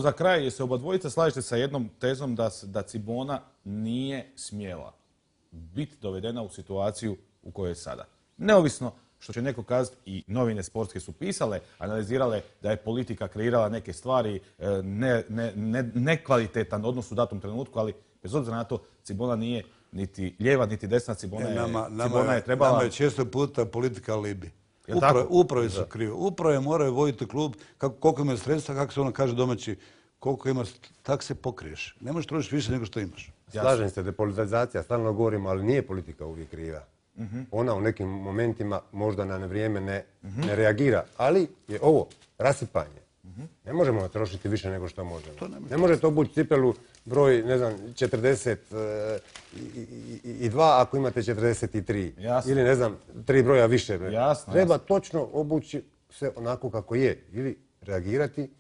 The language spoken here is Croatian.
Za kraj, se oba dvojica slažete sa jednom tezom da Cibona nije smjela biti dovedena u situaciju u kojoj je sada. Neovisno što će neko kazati, i novine sportske su pisale, analizirale da je politika kreirala neke stvari, nekvalitetan odnos u datom trenutku, ali bez obzira na to Cibona nije niti lijeva, niti desna. Cibona je trebala... Nama je često puta politika alibi. Uprave su krive. Uprave moraju voditi klub, koliko imaju sredstva, kako se ono kaže domaći, koliko ima, tak se pokriješ. Ne možeš trošiti više nego što imaš. Slažem se, depolitizacija, stalno govorimo, ali nije politika uvijek kriva. Ona u nekim momentima možda na vrijeme ne reagira, ali je ovo rasipanje. Ne možemo trošiti više nego što možemo. Ne možete obući cipelu broj, ne znam, 42 ako imate 43. Ili ne znam, 3 broja više. Treba točno obući se onako kako je. Ili reagirati